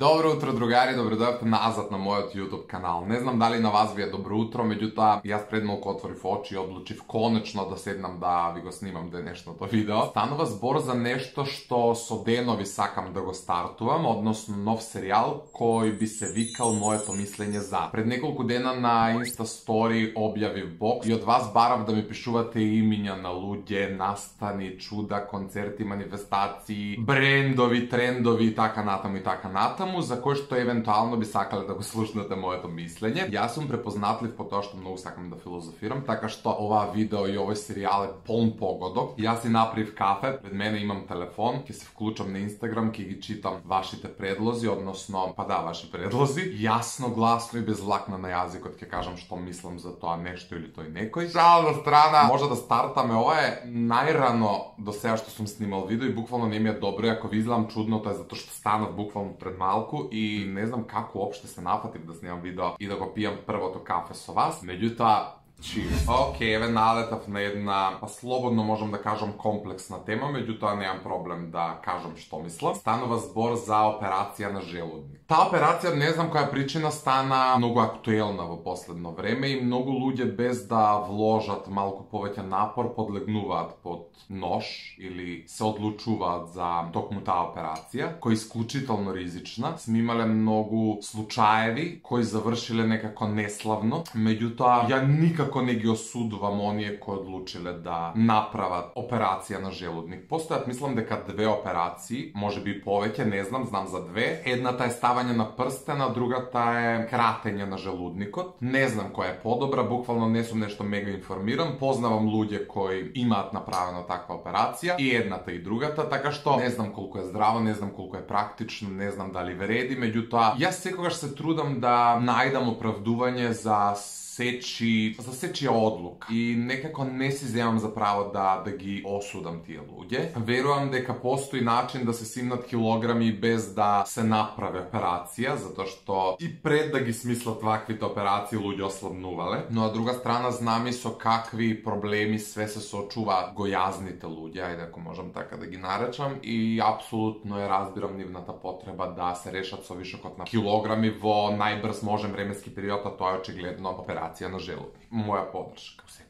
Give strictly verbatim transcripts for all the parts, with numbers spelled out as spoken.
Добро утро, другари, добредојавте назад на мојот YouTube канал. Не знам дали на вас ви е добро утро, меѓутоа јас пред малку отворив очи и одлучив конечно да седнам да ви го снимам денешното видео. Станува збор за нешто што со денови сакам да го стартувам, односно нов серијал кој би се викал Моето мислење за. Пред неколку дена на Insta Story објавив бокс и од вас барав да ми пишувате имиња на луѓе, настани, чуда, концерти, манифестации, брендови, трендови и така натаму и така натаму, за кој што евентуално би сакале да го слушнете моето мислење. Јас сум препознатлив по тоа што многу сакам да филозофирам, така што оваа видео и овој серијал е полн погодок. Јас си направив кафе, пред мене имам телефон, ќе се вклучам на Инстаграм, ќе ги читам вашите предлози, односно, па да, ваши предлози. Јасно, гласно и без лакна на јазикот ќе кажам што мислам за тоа нешто или тој некој. Шал на страна, може да стартаме. Ова е најрано до сега што сум снимал видео и буквално не ми е добро. Ако ви изгледам чудно, тоа е затоа што станав буквално пред малку и не знам како опште се нафатив да снимам видео и да го пијам првото кафе со вас. Меѓутоа, cheers. Океј, еве налетав на една, па слободно можам да кажам комплексна тема, меѓутоа немам проблем да кажам што мислам. Станува збор за операција на желудник. Таа операција, не знам која причина, стана многу актуелна во последно време и многу луѓе без да вложат малку повеќе напор подлегнуваат под нож или се одлучуваат за токму таа операција, која е исклучително ризична. Сме имале многу случаеви кои завршиле некако неславно, меѓутоа ја никако не ги осудувам оние кои одлучиле да направат операција на желудник. Постојат, мислам дека две операции, можеби повеќе, не знам, знам за две. Едната е ставање на прстена, другата е кратење на желудникот. Не знам која е подобра, буквално не сум нешто мега информиран. Познавам луѓе кои имаат направено таква операција, и едната и другата, така што не знам колку е здраво, не знам колку е практично, не знам дали вреди, меѓутоа јас секогаш се трудам да најдам оправдување за сечи, за сечија одлука и некако не си земам за право да да ги осудам тие луѓе. Верувам дека постои начин да се симнат килограми без да се направи операција, затоа што и пред да ги смислат ваквите операции луѓе ослабнувале, но од друга страна знам и со какви проблеми све се соочуваат гојазните луѓе, ајде ако можам така да ги наречам, и апсолутно е разбирам нивната потреба да се решат со вишокот на килограми во најбрз можен временски период, а тоа е очигледно операција на желудник. Моја поддршка секој.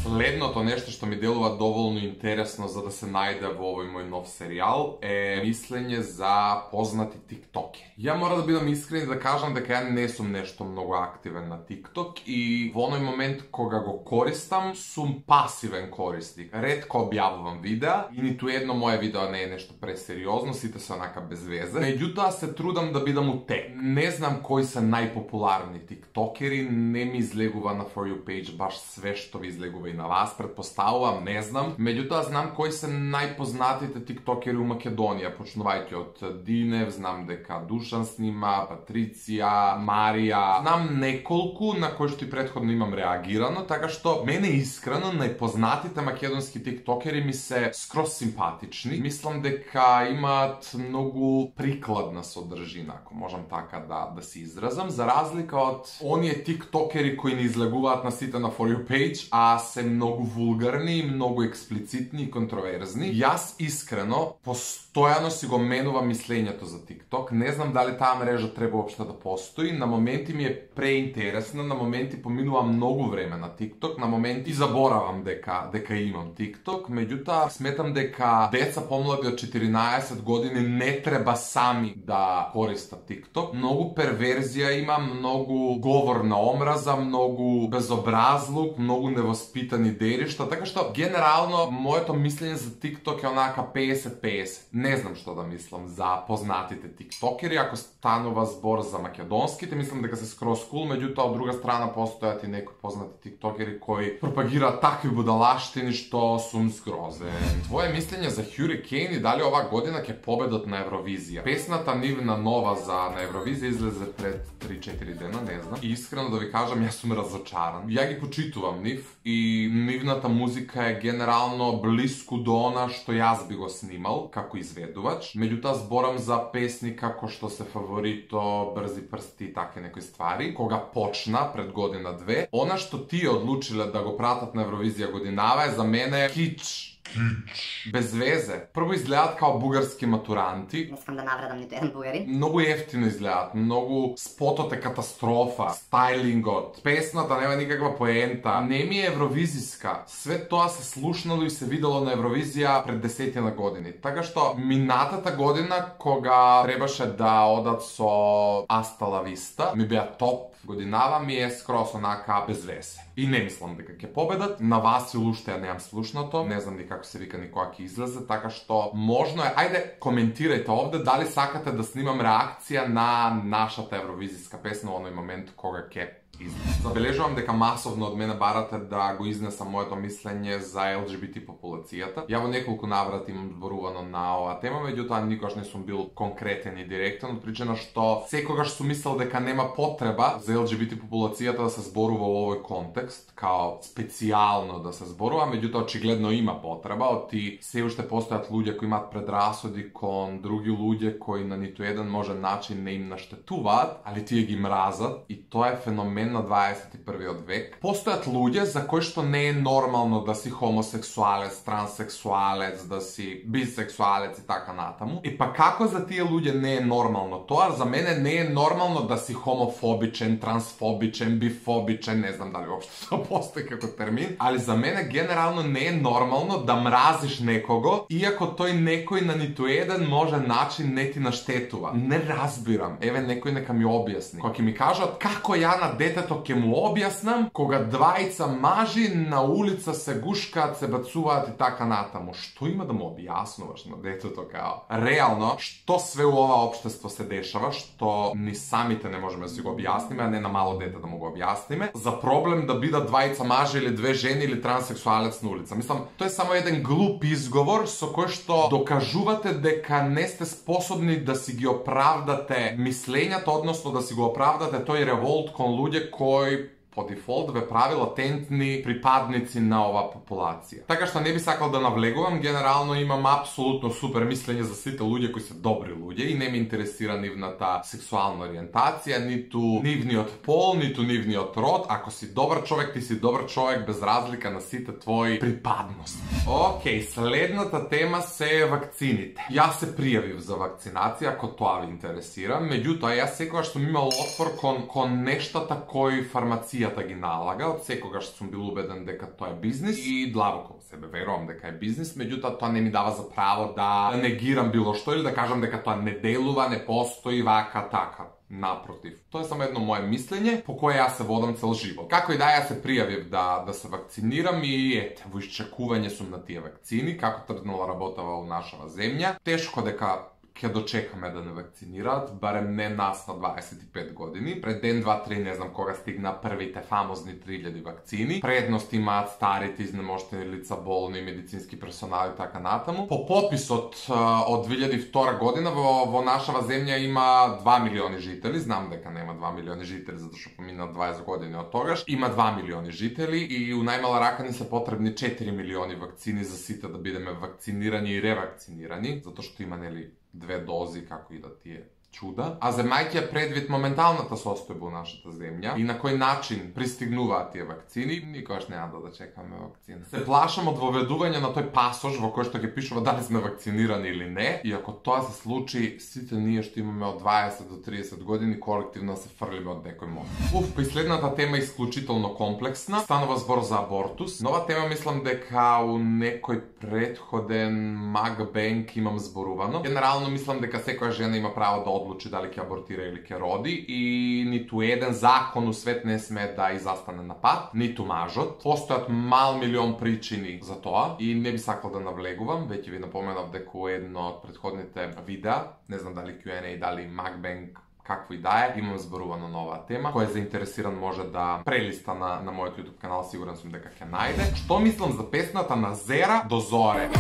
Следното нешто што ми делува доволно интересно за да се најде во овој мој нов серијал е мислење за познати тиктокери. Ја мора да бидам искрен и да кажам дека ја не сум нешто многу активен на тикток и во оној момент кога го користам сум пасивен корисник. Ретко објавувам видеа и ниту едно моје видео не е нешто пресериозно, сите се онака без везе. Меѓутоа се трудам да бидам утек. Не знам кои се најпопуларни тиктокери, не ми излегува на For You page баш све што ви излегува и на вас, предпоставувам, не знам. Меѓутоа знам кои се најпознатите тиктокери у Македонија, почнувајќи од Динев, знам дека Душан снима, Патриција, Марија, знам неколку на кои што и претходно имам реагирано, така што мене искрено најпознатите македонски тиктокери ми се скроз симпатични. Мислам дека имаат многу прикладна содржина, ако можам така да да се изразам, за разлика од оние тиктокери кои не излегуваат на сите на For You page, а се многу вулгарни, многу експлицитни и контроверзни. Јас искрено постојано си го менувам мислењето за TikTok. Не знам дали таа мрежа треба општо да постои. На моменти ми е преинтересна, на моменти поминувам многу време на TikTok, на моменти заборавам дека дека имам TikTok. Меѓутоа сметам дека деца помлади од четиринаесет години не треба сами да користат TikTok. Многу перверзија има, многу говор на омраза, многу безобразлук, многу невоспитани деришта, така што генерално моето мислење за TikTok е онака песет песет. Не знам што да мислам за познатите тиктокери. Ако станува збор за македонските, мислам дека се скроз кул, меѓутоа од друга страна постојат и некои познати тиктокери кои пропагираат такви будалаштини што сум згрозен. Твое мислење за Hurricane и дали оваа година ќе победат на Евровизија? Песната нивна нова за на Евровизија излезе пред три-четири дена, не знам. И искрено да ви кажам, јас сум разочаран. Ја ги почитувам нив и нивната музика е генерално блиску до она што јас би го снимал како изведувач. Меѓутоа зборам за песни како што се Фаворито, Брзи прсти и таке некои ствари. Кога почна пред година две, она што тие одлучиле да го пратат на Евровизија годинава е за мене кич. Без везе. Прво изгледат као бугарски матуранти. Не искам да навредам нито еден бугари. Многу ефтино изгледат, многу спотот е катастрофа, стайлингот, песната нема никаква поента, не ми е евровизиска. Све тоа се слушнало и се видело на Евровизија пред десетина години. Така што минатата година кога требаше да одат со Аста ла Виста, ми беа топ годинава, ми е скрос онака без весе. И не мислам дека ќе победат. На вас и уште ја немам слушнато, не знам ни како се вика ни кога ќе излезе, така што можно е, ајде коментирајте овде дали сакате да снимам реакција на нашата евровизиска песна во оној момент кога ќе излезе. Забележувам дека масовно од мене барате да го изнесам моето мислење за Ел Џи Би Ти популацијата. Ја во неколку наврати имам зборувано на оваа тема, меѓутоа никогаш не сум бил конкретен и директен, од причина што секогаш сум мислел дека нема потреба за Ел Џи Би Ти популацијата да се зборува во овој контекст, као специјално да се зборува, меѓутоа очигледно има потреба, оти се уште постојат луѓе кои имаат предрасуди кон други луѓе кои на ниту еден можен начин не им наштетуваат, али тие ги мразат, и тоа е феномен на дваесет и првиот век. Постојат луѓе за кои што не е нормално да си хомосексуалец, транссексуалец, да си бисексуалец и така натаму. И па како за тие луѓе не е нормално тоа, за мене не е нормално да си хомофобичен, трансфобичен, бифобичен, не знам дали воопшто тоа постои како термин, али за мене генерално не е нормално да мразиш некого, иако тој некој на ниту еден може начин не ти наштетува. Не разбирам. Еве некој нека ми објасни. Кога ќе ми кажат како ја на детето ќе му објаснам, кога двајца мажи на улица се гушкаат, се бацуваат и така натаму. Што има да му објаснуваш на детето као? Реално, што све у ова општество се дешава, што ни самите не можеме да си го објасниме, а не на мало дете да му го објасниме, за проблем да бидат двајца мажи или две жени или транссексуалец на улица. Мислам, тоа е само еден глуп изговор со кој што докажувате дека не сте способни да си ги оправдате мислењата, односно да си го оправдате тој револт кон луѓе кои по дефолт ве прави латентни припадници на оваа популација. Така што не би сакал да навлегувам, генерално имам апсолутно супер мислење за сите луѓе кои се добри луѓе и не ме интересира нивната сексуална ориентација, ниту нивниот пол, ниту нивниот род. Ако си добар човек, ти си добар човек без разлика на сите твои припадности. Океј, следната тема се вакцините. Јас се пријавив за вакцинација, ако тоа ви интересира, меѓутоа јас секогаш сум имал отпор кон, кон нештата кои фармација ги налага, од секогаш сум бил убеден дека тоа е бизнис и длабоко во себе верувам дека е бизнис, меѓутоа тоа не ми дава за право да негирам било што или да кажам дека тоа не делува, не постои вака така. Напротив, тоа е само едно мое мислење по кое јас се водам цел живот. Како и да ја се пријавив да да се вакцинирам и ете, во исчекување сум на тие вакцини, како тргнала работава во нашава земја. Тешко дека ќе дочекаме да не вакцинираат, барем не нас на дваесет и пет години. Пред ден, два, три, не знам кога стигна првите фамозни три илјади вакцини. Предност имаат старите, изнемоштени лица, болни, медицински персонал и така натаму. По пописот од две илјади и втора година во, во нашава земја има два милиони жители. Знам дека нема два милиони жители, затоа што помина дваесет години од тогаш. Има два милиони жители и у најмала рака ни се потребни четири милиони вакцини за сите да бидеме вакцинирани и ревакцинирани, затоа што има нели две дози, како и да тие чуда. А земајќи предвид моменталната состојба во нашата земја и на кој начин пристигнуваат тие вакцини, никогаш нема да чекаме вакцина. Се плашам од воведување на тој пасош во кој што ќе пишува дали сме вакцинирани или не, и ако тоа се случи, сите ние што имаме од дваесет до тридесет години колективно се фрлиме од некој мост. Уф, последната тема е исклучително комплексна. Станува збор за абортус. Нова тема мислам дека у некој предходен макбенк имам зборувано. Генерално мислам дека секоја жена има право да одлучи дали ќе абортира или ќе роди и ниту еден закон у свет не сме да изастане на пат, ниту мажот. Постојат мал милион причини за тоа и не би сакал да навлегувам, веќе ви напоменав дека у едно од предходните видеа, не знам дали Q and A, дали макбенк, какво и да е, имам зборувано на оваа тема. Кој е заинтересиран може да прелиста на, на мојот YouTube канал, сигурен сум дека ќе најде. Што мислам за песната на Зера до зоре?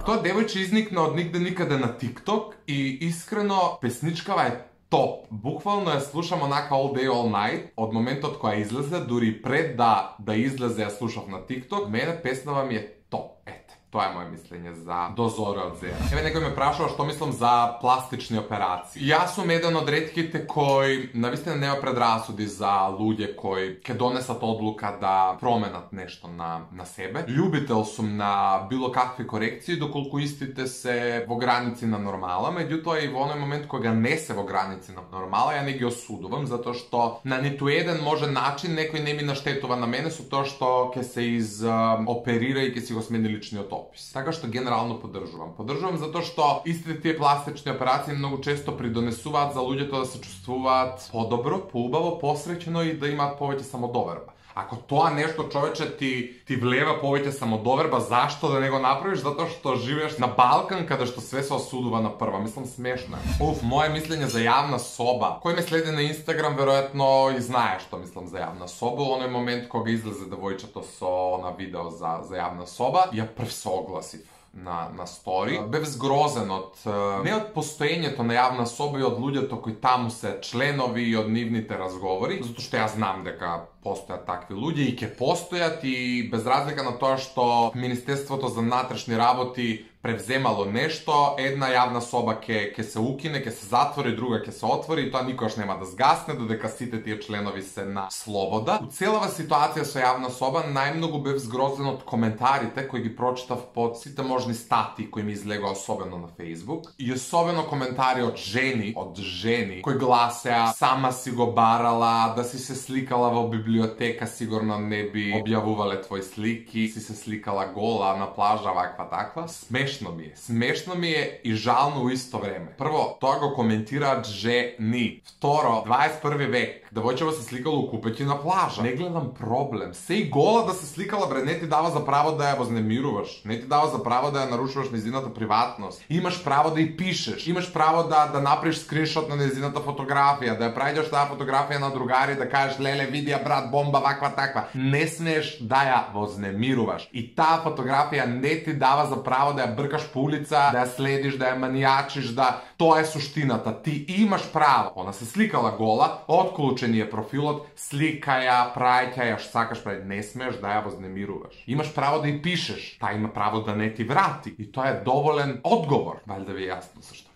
Тоа девојче изникна од нигде никаде на TikTok и искрено песничкава е топ. Буквално ја слушам онака all day all night од моментот која излезе, дури пред да да излезе ја слушав на TikTok. Мене песнава ми е топ. Ете. Тоа е моje мислење за до зоре од зера. Еве некој ме прашува што мислам за пластични операции. Јас сум еден од ретките кои навистина нема предрасуди за луѓе кои ќе донесат одлука да променат нешто на на себе. Љубител сум на било какви корекции доколку истите се во граници на нормала, меѓутоа и во оној момент кога не се во граници на нормала, ја не ги осудувам затоа што на ниту еден може начин некој не ми наштетува на мене со тоа што ќе се из оперира и ќе си го смени личниот опис. Така што генерално поддржувам. Поддржувам затоа што истите тие пластични операции многу често придонесуваат за луѓето да се чувствуваат подобро, поубаво, посреќено и да имаат повеќе самодоверба. Ако тоа нешто, човече, ти ти влева повеќе самодоверба, зашто да не го направиш? Затоа што живееш на Балкан каде што све се осудува на прва. Мислам, смешно е. Уф, моje мислење за јавна соба. Кој ме следи на Инстаграм веројатно и знае што мислам за јавна соба. Оној момент кога излезе девојчето со на видео за за јавна соба, ја прв се огласив на на стори. Бев згрозен од не од постоењето на јавна соба и од луѓето кои таму се членови и од нивните разговори, затоа што јас знам дека постојат такви луѓе и ќе постојат и без разлика на тоа што Министерството за внатрешни работи превземало нешто, една јавна соба ќе ќе се укине, ќе се затвори, друга ќе се отвори и тоа никогаш нема да згасне додека сите тие членови се на слобода. У целава ситуација со јавна соба најмногу бев згрозен од коментарите кои ги прочитав под сите можни статии кои ми излегоа особено на Facebook и особено коментари од жени, од жени кои гласеа сама си го барала, да си се сликала во библиотека, сигурно не би објавувале твои слики, си се сликала гола на плажа, ваква таква. Смешно ми е. Смешно ми е и жално у исто време. Прво, тоа го коментираат жени. Второ, дваесет и први век. Девојчева се сликала у купети на плажа. Не гледам проблем. Се и гола да се сликала, бре, не ти дава за право да ја вознемируваш. Не ти дава за право да ја нарушуваш нејзината приватност. Имаш право да ја пишеш. Имаш право да да направиш скриншот на нејзината фотографија, да ја прајдеш таа фотографија на другари, да кажеш леле види ја брат бомба ваква таква. Не смееш да ја вознемируваш. И таа фотографија не ти дава за право да ја бркаш по улица, да ја следиш, да ја манијачиш, да тоа е суштината. Ти имаш право. Она се сликала гола, отклучен е профилот, слика ја, праќа ја, што сакаш прави, не смееш да ја вознемируваш. Имаш право да ја пишеш, таа има право да не ти врати. И тоа е доволен одговор. Валјда ви е јасно за што.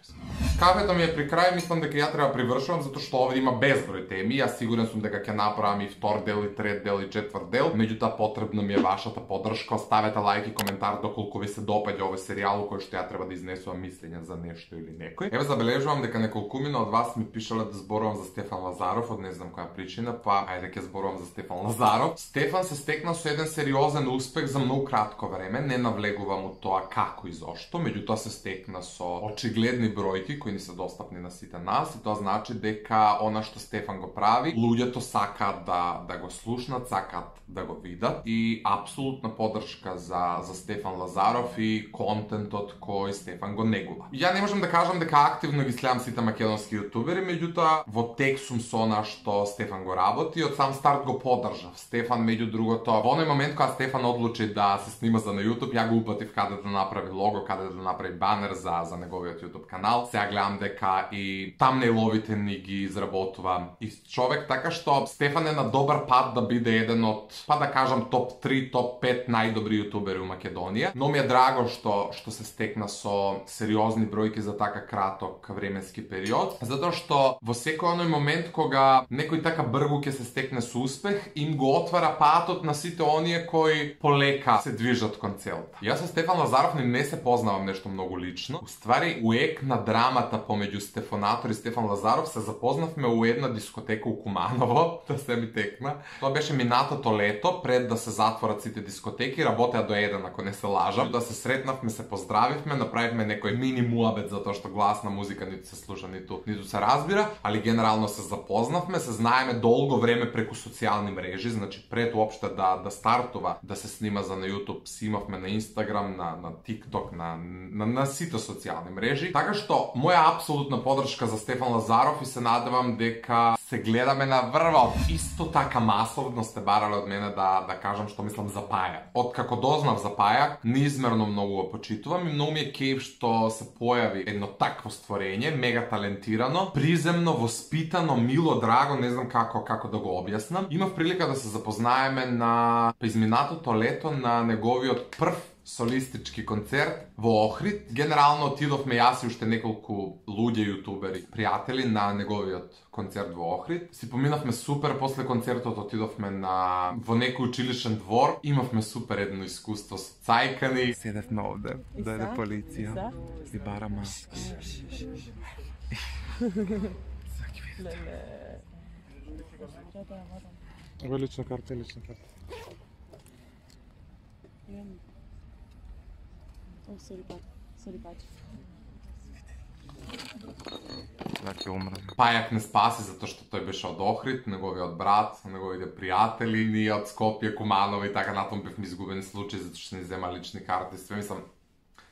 Кафето ми е при крај, мислам дека ја треба привршувам затоа што овде има безброј теми. Јас сигурен сум дека ќе направам и втор дел, и трет дел, и четврт дел. Меѓутоа потребна ми е вашата поддршка. Оставете лајк и коментар доколку ви се допаѓа овој серијал кој што ја треба да изнесувам мислења за нешто или некој. Еве забележувам дека неколкумина од вас ми пишале да зборувам за Стефан Лазаров, од не знам која причина, па ајде ќе зборувам за Стефан Лазаров. Стефан се стекна со еден сериозен успех за многу кратко време, не навлегувам у тоа како и зошто, меѓутоа се стекна со очигледни бројки кои ни се достапни на сите нас и тоа значи дека она што Стефан го прави, луѓето сакаат да да го слушнат, сакаат да го видат и апсолутна поддршка за за Стефан Лазаров и контентот кој Стефан го негува. Ја не можам да кажам дека активно ги следам сите македонски јутубери, меѓутоа во тек сум со она што Стефан го работи, од сам старт го поддржав. Стефан меѓу другото, во оној момент кога Стефан одлучи да се снима за на YouTube, ја го упатив каде да направи лого, каде да направи банер за за неговиот YouTube канал. Сега гледам дека и тамнейловите ни ги изработува и човек, така што Стефан е на добар пат да биде еден од, па да кажам, топ три, топ пет најдобри јутубери у Македонија. Но ми е драго што што се стекна со сериозни бројки за така краток временски период, затоа што во секој оној момент кога некој така бргу ќе се стекне со успех, им го отвара патот на сите оние кои полека се движат кон целта. Јас со Стефан Лазаров не се познавам нешто многу лично. Уствари, уек на драмата помеѓу Стефанатор и Стефан Лазаров се запознавме у една дискотека у Куманово, да се ми текна. Тоа беше минатото лето, пред да се затворат сите дискотеки, работеа до еден, ако не се лажам. Да се сретнавме, се поздравивме, направивме некој мини муабет затоа што гласна музика ниту се слуша, ниту ниту се разбира, али генерално се запознавме, се знаеме долго време преку социјални мрежи, значи пред уопште да да стартува да се снима за на YouTube, си имавме на Instagram, на на TikTok, на на, на сите социјални мрежи. Така што моја апсолутна поддршка за Стефан Лазаров и се надевам дека се гледаме на врвот. Исто така масовно сте барале од мене да да кажам што мислам за Пајак. Откако дознав за Пајак, неизмерно многу го почитувам и многу ми е кејф што се појави едно такво створење, мега талентирано, приземно, воспитано, мило, драго, не знам како како да го објаснам. Имав прилика да се запознаеме на изминатото лето на неговиот прв солистички концерт во Охрид. Генерално отидовме јас и уште неколку луѓе јутубери, пријатели на неговиот концерт во Охрид. Си поминавме супер, после концертот отидовме на во некој училишен двор. Имавме супер едно искуство со цајкани. Седевме овде, дојде полиција и бара маски. Ова лична карта, лична карта. О, сори пат, сори пат. Така умрам. Пајак не спаси затоа што тој беше од Охрид, неговиот брат, неговите пријатели, ние од Скопје, Куманово и така натаму бевме изгубени случаи затоа што не зема лични карти. Све мислам,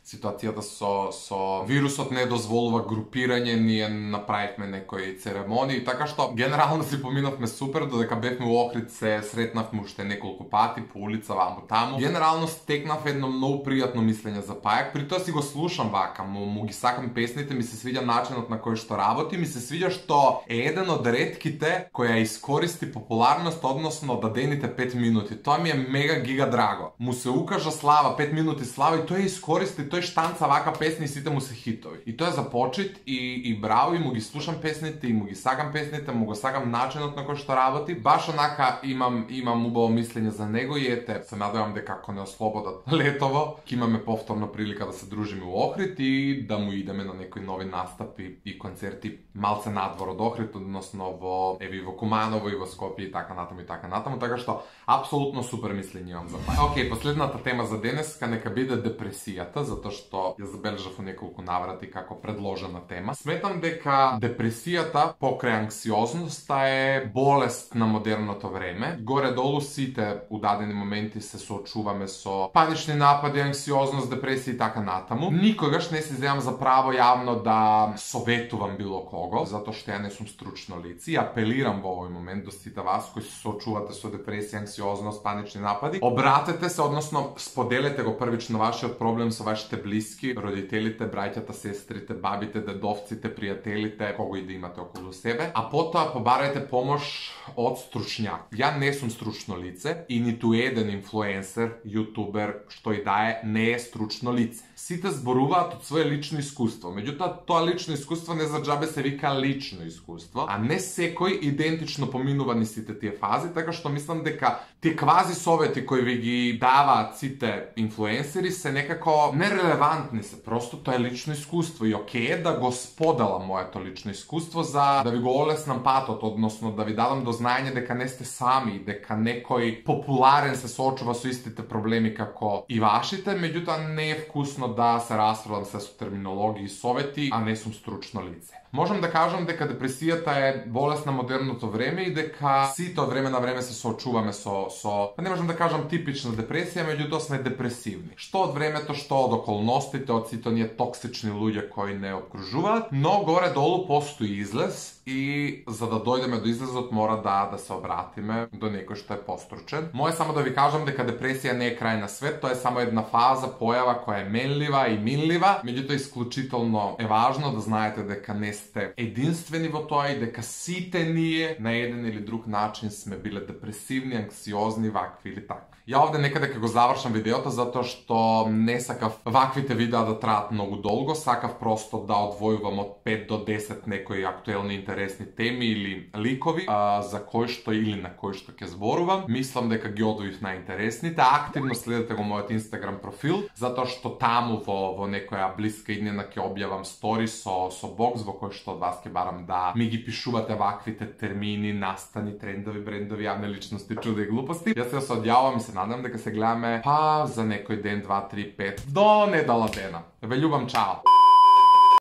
ситуацијата со со вирусот не дозволува групирање, ние направивме некои церемонии, така што генерално си поминавме супер, додека бевме во Охрид се сретнавме уште неколку пати по улица ваму таму. Генерално стекнав едно многу пријатно мислење за Пајак, при тоа си го слушам вака, му, му ги сакам песните, ми се свиѓа начинот на кој што работи, ми се свиѓа што е еден од ретките кој ја искористи популарност, односно дадените пет минути. Тоа ми е мега гига драго. Му се укажа слава, пет минути слава и тој ја искористи, тој штанца вака песни и сите му се хитови. И тоа е за почит и, и браво, и му ги слушам песните, и му ги сакам песните, му го сакам начинот на кој што работи. Баш онака имам имам убаво мислење за него и ете, се надевам дека ако не ослободат летово, ќе имаме повторно прилика да се дружиме во Охрид и да му идеме на некои нови настапи и концерти малце надвор од Охрид, односно во еви во Куманово и во Скопје и така натаму и така натаму, така што апсолутно супер мислење имам за Пајак. Океј, последната тема за денеска нека биде депресијата, затоа што ја забележав во неколку наврати како предложена тема. Сметам дека депресијата покрај анксиозноста е болест на модерното време. Горе-долу сите у дадени моменти се соочуваме со панични напади, анксиозност, депресија и така натаму. Никогаш не си земам за право јавно да советувам било кого, затоа што ја не сум стручно лице и апелирам во овој момент до сите вас кои се соочувате со депресија, анксиозност, панични напади. Обратете се, односно споделете го првично вашиот проблем со вашите блиски, родителите, браќата, сестрите, бабите, дедовците, пријателите, кого и да имате околу себе, а потоа побарајте помош од стручњак. Ја не сум стручно лице и ниту еден инфлуенсер, јутубер, што и да е, не е стручно лице. Сите зборуваат од свое лично искуство, меѓутоа тоа лично искуство не за џабе се вика лично искуство, а не секој идентично поминува ни сите тие фази, така што мислам дека тие квази совети кои ви ги даваат сите инфлуенсери се некако нерелевантни се, просто тоа е лично искуство и окей е да го споделам моето лично искуство за да ви го олеснам патот, односно да ви дадам до знаење дека не сте сами, дека некој популарен се соочува со истите проблеми како и вашите, меѓутоа не е вкусно да се расправам се со терминологии и совети, а не сум стручно лице. Можам да кажам дека депресијата е болест на модерното време и дека сите од време на време се соочуваме со со не можам да кажам типична депресија, меѓутоа сме депресивни. Што од времето, што од околностите, од сите оние токсични луѓе кои не окружуваат, но горе-долу постои излез и за да дојдеме до излезот мора да да се обратиме до некој што е постручен. Мој само да ви кажам дека депресија не е крај на свет, тоа е само една фаза, појава која е менлива и минлива, меѓутоа исклучително е важно да знаете дека не сте единствени во тоа и дека сите ние на еден или друг начин сме биле депресивни, анксиозни, вакви или такви. Ја овде некаде ќе го завршам видеото затоа што не сакав ваквите видеа да траат многу долго, сакав просто да одвојувам од пет до десет некои актуелни интересни теми или ликови а, за кои што или на кои што ќе зборувам. Мислам дека ги одвоив најинтересните. Активно следете го мојот Инстаграм профил, затоа што таму во во некоја блиска иднина ќе објавам стори со со бокс во кој што од вас ќе барам да ми ги пишувате ваквите термини, настани, трендови, брендови, јавни личности, чуда и глупости. Јас се одјавам и се надам дека се гледаме па за некој ден, два, три, пет до недела дена. Ве љубам, чао!